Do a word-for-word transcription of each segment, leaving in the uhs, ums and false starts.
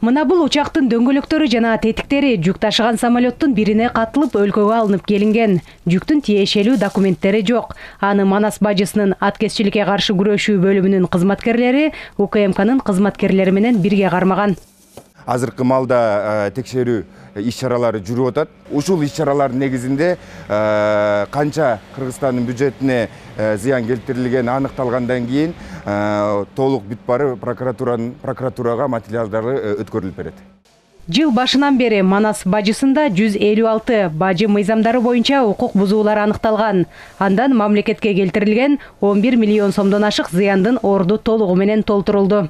Мына бул учактын дөңгөлөктөрү жана тетиктери жүк ташыган самолеттун бирине катылып өлкөгө алынып келинген. Жүктүн тиешелүү документтери жок. Аны Манас бажысынын аткезчиликке каршы күрөшүү бөлүмүнүн кызматкерлери У К М К'нын кызматкерлери менен бирге кармаган. Азыркы маалда текшерүү иш-чаралары жүрүп атат. Ушул иш-чаралардын негизинде канча Кыргызстандын бюджетине зыян келтирилгени аныкталгандан кийин толук бүт бары прокуратуранын прокуратурага материалдары өткөрүлүп берет. Жыл башынан бери Манас бажысында жүз элүү алты бажы мыйзамдары боюнча укук бузуулар аныкталган. Андан мамлекетке келтирилген он бир миллион сомдон ашык зыяндын орду толугу менен толтурулду.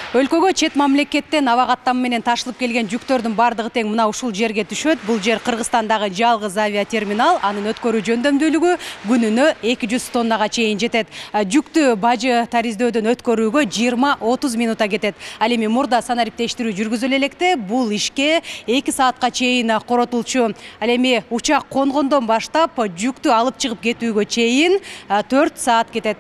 Өлкөгө чет мамлекеттен аба каттамы менен ташылып келген жүктөрдүн бардыгы тең мына ушул жерге түшөт. Бул жер Кыргызстандагы жалгыз авиатерминал. Анын өткөрүү жөндөмдүүлүгү күнүнө эки жүз тоннага чейин жетет. Жүктү бажы тариздөөдөн өткөрүүгө жыйырма отуз минута кетет. Ал эми мурда санариптештирүү жүргүзүлө электе бул ишке эки саатка чейин коротулчу. Ал эми учак конгондон баштап жүктү алып чыгып кетүүгө чейин төрт саат кетет.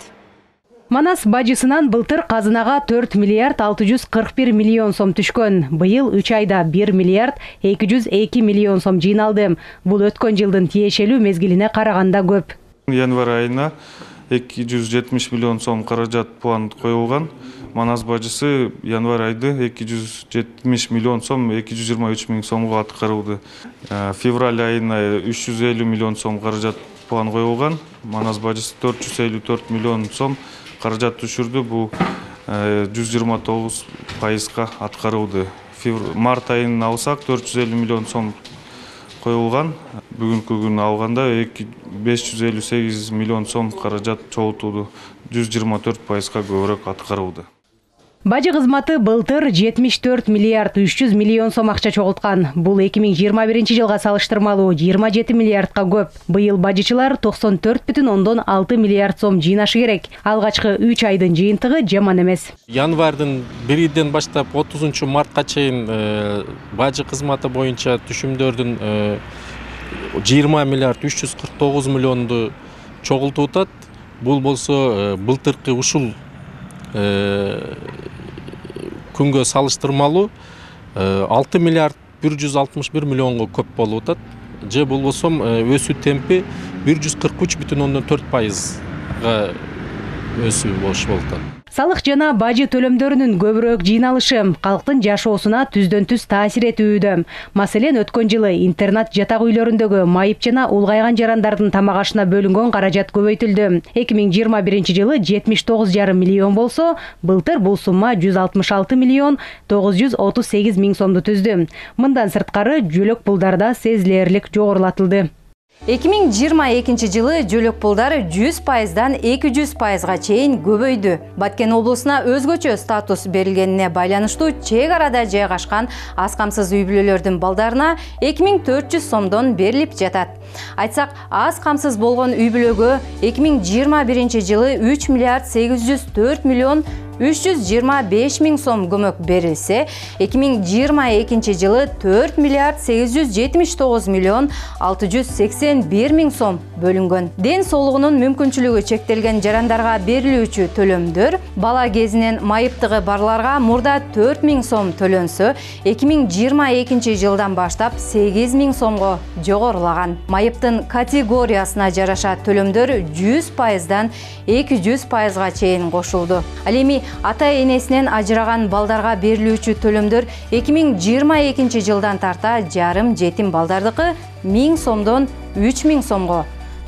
Манас бажысынан былтыр казынага төрт миллиард алты жүз кырк бир миллион сом түшкөн. Быйыл үч айда бир миллиард эки жүз эки миллион сом жыйналды. Бул өткөн жылдын тиешелүү мезгилине караганда көп. Январь айына эки жүз жетимиш миллион сом каражат план коюлган. Манас бажысы январь айды эки жүз жетимиш миллион сом эки жүз жыйырма үч миң сомго аткарылды. Февраль айына үч жүз элүү миллион сом каражат план коюлган. Манас бажысы төрт жүз элүү төрт миллион сом каражат түшүрдү. Бул жүз жыйырма тогуз пайызга аткарылды. Март айын алсак төрт жүз элүү миллион сом коюлган. Бүгүнкү күнү алганда беш жүз элүү сегиз миллион сом каражат чогултулду. жүз жыйырма төрт пайызга көбүрөөк аткарылды. Бажы кызматы былтыр жетимиш төрт миллиард үч жүз миллион сом акча чогулткан. Бул эки миң жыйырма биринчи жылга салыштырмалуу жыйырма жети миллиардка көп. Быйыл бажычылар токсон төрт бүтүн ондон алты миллиард сом жыйнашы керек. Алгачкы үч айдын жыйынтыгы жаман эмес. Январдын биринен баштап отузунчу мартка чейин бажы кызматы боюнча түшүмдөрдүн жыйырма миллиард үч жүз кырк тогуз миллионду чогултуп атат. Бул болсо былтыркы ушул күнгө салыштырмалуу алты миллиард бир жүз алтымыш бир миллионго көп болуп атат. Же болбосо өсүү темпи бир жүз кырк үч бүтүн ондон төрт пайызга өсүү болушу болуп атат. Салык жана бажы төлөмдөрүнүн көбүрөөк жыйналышы калктын жашоосуна түздөн түз таасир этүүдө. Маселен, өткөн жылы интернат жатак үйлөрүндөгү майып жана улгайган жарандардын тамак ашына бөлүнгөн каражат көбөйтүлдү. эки миң жыйырма биринчи жылы жетимиш тогуз жарым миллион болсо, былтыр бул сумма жүз алтымыш алты миллион тогуз жүз отуз сегиз миң сомду түздү. Мындан сырткары жөлөк пулдарда сезилерлик жогорулатылды. эки миң жыйырма экинчи жылы жөлөк пулдар жүз пайыздан эки жүз пайызга чейин көбөйдү. Баткен облусуна өзгөчө статус берилгенине байланыштуу чек арада жайгашкан аз камсыз үй бүлөлөрдүн балдарына эки миң төрт жүз сомдон берилип жатат. Айтсак, аз камсыз болгон үй бүлөгө эки миң жыйырма биринчи жылы үч миллиард сегиз жүз төрт миллион үч жүз жыйырма беш миң сом көмөк берилсе, эки миң жыйырма экинчи жылы төрт миллиард сегиз жүз жетимиш тогуз миллион алты жүз сексен бир миң сом бөлүнгөн. Ден соолугунун мүмкүнчүлүгү чектелген жарандарга берилүүчү төлөмдөр бала кезинен майыптыгы барларга мурда төрт миң сом төлөнсө, эки миң жыйырма экинчи жылдан баштап сегиз миң сомго жогорулаган. Майыптын категориясына жараша төлөмдөр жүз пайыздан эки жүз пайызга чейин кошулду. Ал эми ата-энесинен ажыраган балдарга берилүүчү төлөмдөр эки миң жыйырма экинчи жылдан тарта жарым жетим балдардыкы миң сомдон үч миң сомго,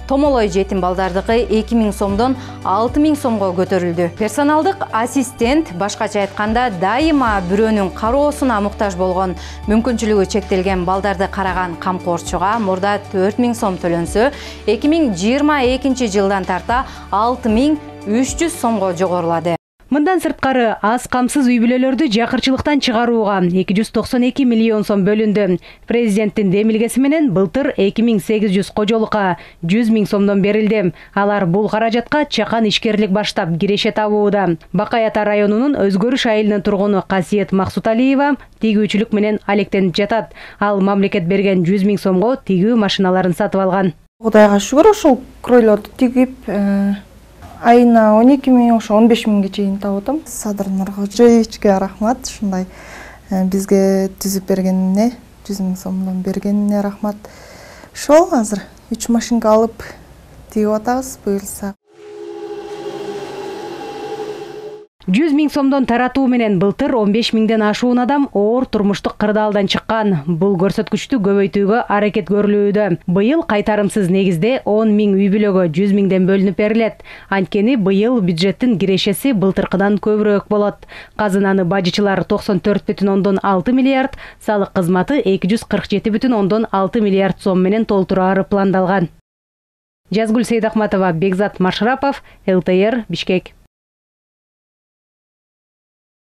томолой жетим балдардыкы эки миң сомдон алты миң сомго көтөрүлдү. Персоналдык ассистент, башкача айтканда, дайыма бирөөнүн кароосуна муктаж болгон мүмкүнчүлүгү чектелген балдарды караган камкорчуга мурда төрт миң сом төлөнсө, эки миң жыйырма экинчи жылдан тарта алты миң үч жүз сомго жогорулады. Мындан сырткары аз камсыз үй бүлөлөрдү жакырчылыктан чыгарууга эки жүз токсон эки миллион сом бөлүндү. Президенттин демилгеси менен былтыр эки миң сегиз жүз кожолукка жүз миң сомдон берилди. Алар бул каражатка чакан ишкерлик баштап киреше табууда. Бакай Ата районунун Өзгөрүш айылынын тургуну Касиет Максуталиева тигүүчүлүк менен алектенип жатат. Ал мамлекет берген жүз миң сомго тигүү машиналарын сатып алган. Кудайга шүгүр, ушул кройлорду тигип айына он эки миң, ошо он беш миңге чейин табып атам. Садыр Нуркожоевичке рахмат, ушундай бизге түзүп бергенине, жүз миң сомдон бергенине рахмат. Ошол азыр үч машинка алып тигип атабыз, буюрса. жүз миң сомдон таратуу менен былтыр он беш миңден ашуун адам оор турмуштук кырдаалдан чыккан. Бул көрсөткүчтү көбөйтүүгө аракет көрүлүүдө. Быйыл кайтарымсыз негизде он миң үй бүлөгө жүз миңден бөлүнүп берилет. Анткени быйыл бюджеттин кирешеси былтыркыдан көбүрөөк болот. Казынаны бажычылар токсон төрт бүтүн ондон алты миллиард, салык кызматы эки жүз кырк жети бүтүн ондон алты миллиард сом менен толтурары пландалган. Жазгүл Сейдахматова, Бекзат Машрапов, эл тэ эр, Бишкек.